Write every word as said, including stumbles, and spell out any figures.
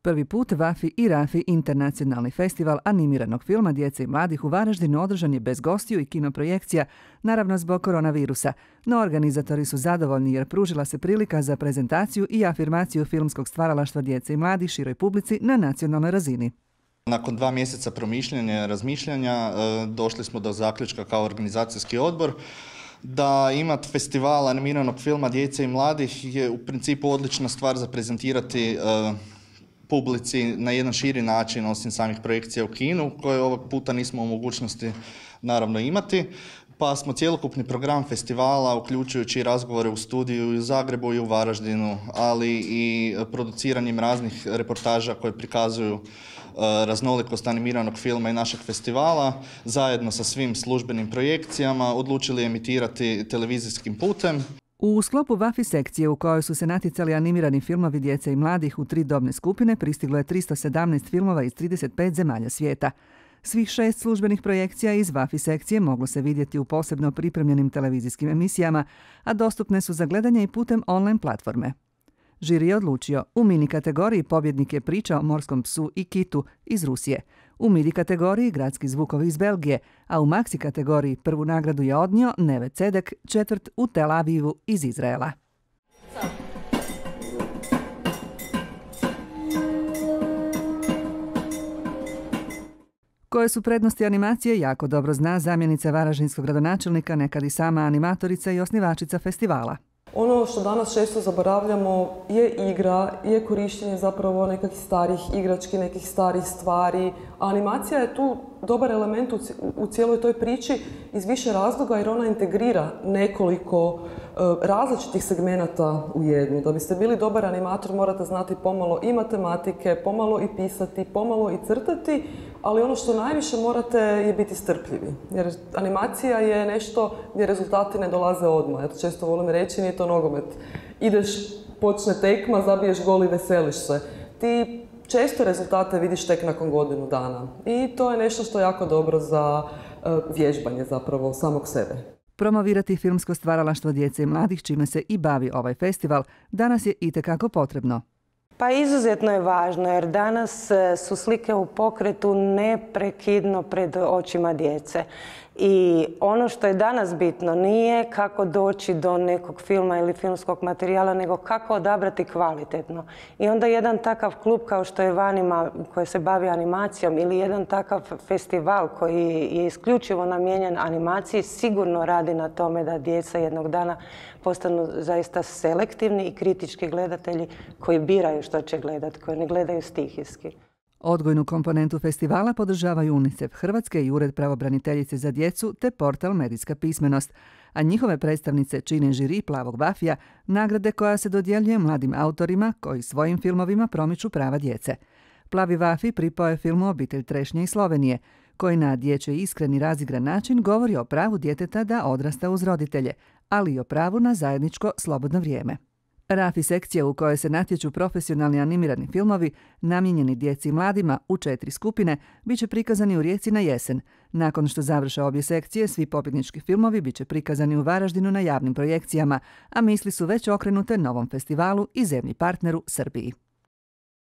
Prvi put Vafi i Rafi internacionalni festival animiranog filma djece i mladih u Varaždinu održan je bez gostiju i kinoprojekcija, naravno zbog koronavirusa, no organizatori su zadovoljni jer pružila se prilika za prezentaciju i afirmaciju filmskog stvaralaštva djece i mladih široj publici na nacionalnoj razini. Nakon dva mjeseca promišljanja i razmišljanja došli smo do zaključka kao organizacijski odbor da imati festival animiranog filma djece i mladih je u principu odlična stvar za prezentirati publici na jedan širi način osim samih projekcija u kinu koje ovog puta nismo u mogućnosti naravno imati. Pa smo cjelokupni program festivala, uključujući razgovore u studiju i u Zagrebu i u Varaždinu, ali i produciranjem raznih reportaža koje prikazuju raznolikost animiranog filma i našeg festivala, zajedno sa svim službenim projekcijama odlučili emitirati televizijskim putem. U sklopu Vafi sekcije u kojoj su se natjecali animirani filmovi djece i mladih u tri dobne skupine pristiglo je tristo sedamnaest filmova iz trideset pet zemalja svijeta. Svih šest službenih projekcija iz Vafi sekcije moglo se vidjeti u posebno pripremljenim televizijskim emisijama, a dostupne su za gledanje i putem online platforme. Žiri je odlučio, u mini kategoriji pobjednik je priča o morskom psu i kitu iz Rusije, u midi kategoriji gradski zvukovi iz Belgije, a u maxi kategoriji prvu nagradu je odnio Neve Cedek, četvrt u Tel Avivu iz Izraela. Koje su prednosti animacije jako dobro zna zamjenica varaždinskog gradonačelnika, nekad i sama animatorica i osnivačica festivala. Ono što danas često zaboravljamo je igra, je korištenje zapravo nekakvih starih igrački, nekih starih stvari. A animacija je tu dobar element u cijeloj toj priči iz više razloga jer ona integrira nekoliko različitih segmenata u jednu. Da biste bili dobar animator morate znati pomalo i matematike, pomalo i pisati, pomalo i crtati, ali ono što najviše morate je biti strpljivi. Jer animacija je nešto gdje rezultati ne dolaze odmah. Ja to često volim reći, nije to nogomet. Ideš, počne tekma, zabiješ gol i veseliš se. Ti često rezultate vidiš tek nakon godinu dana. I to je nešto što je jako dobro za vježbanje zapravo samog sebe. Promovirati filmsko stvaralaštvo djece i mladih, čime se i bavi ovaj festival, danas je itekako potrebno. Pa izuzetno je važno jer danas su slike u pokretu neprekidno pred očima djece. I ono što je danas bitno nije kako doći do nekog filma ili filmskog materijala, nego kako odabrati kvalitetno. I onda jedan takav klub kao što je Vanima koji se bavi animacijom ili jedan takav festival koji je isključivo namijenjen animaciji sigurno radi na tome da djeca jednog dana postanu zaista selektivni i kritički gledatelji koji biraju što će gledati, koji ne gledaju stihijski. Odgojnu komponentu festivala podržavaju UNICEF Hrvatske i Ured pravobraniteljice za djecu te portal Medijska pismenost, a njihove predstavnice čine žiri Plavog Vafija, nagrade koja se dodjeljuje mladim autorima koji svojim filmovima promiču prava djece. Plavi Vafi pripao je filmu Obitelj trešnje iz Slovenije, koji na dječji iskreni razigran način govori o pravu djeteta da odrasta uz roditelje, ali i o pravu na zajedničko slobodno vrijeme. Rafi sekcija u kojoj se natječu profesionalni animirani filmovi, namijenjeni djeci i mladima u četiri skupine, bit će prikazani u Rijeci na jesen. Nakon što završe obje sekcije, svi pobjednički filmovi bit će prikazani u Varaždinu na javnim projekcijama, a misli su već okrenute novom festivalu i zemlji partneru Srbiji.